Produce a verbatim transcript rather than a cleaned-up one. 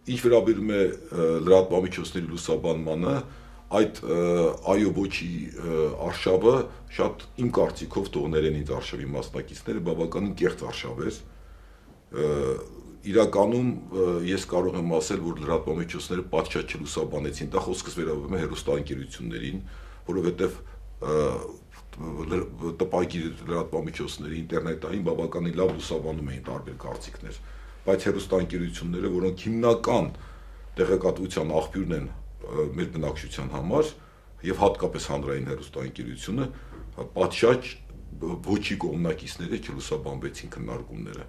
ինչ վերաբերում է լրատվամիջոցների լուսաբանմանը, այդ այո ոչի արշավը շատ իմ կարծիքով թողներեն ինձ արշավի մասնակիցները բավականին կեղծ արշավ էր։ Իրականում ես կարող եմ ասել, որ լրատվամիջոցները պատշաճ չլուսաբանեցին, դա խոսքս վերաբերում է հեռուստաընկերություններին, որովհետև տպագիր լրատվամիջոցների ինտերնետային բավականին լավ լուսաբանում էին տարբեր կարծիքներ, բայց հեռուստաընկերությունները, որոնք հիմնական տեղեկատվության աղբյուրն են մեր բնակչության համար եւ հատկապես հանրային հեռուստաընկերությունը, պատշաճ ոչի կողմնակիցները չլուսաբանվեցին քննարկումները։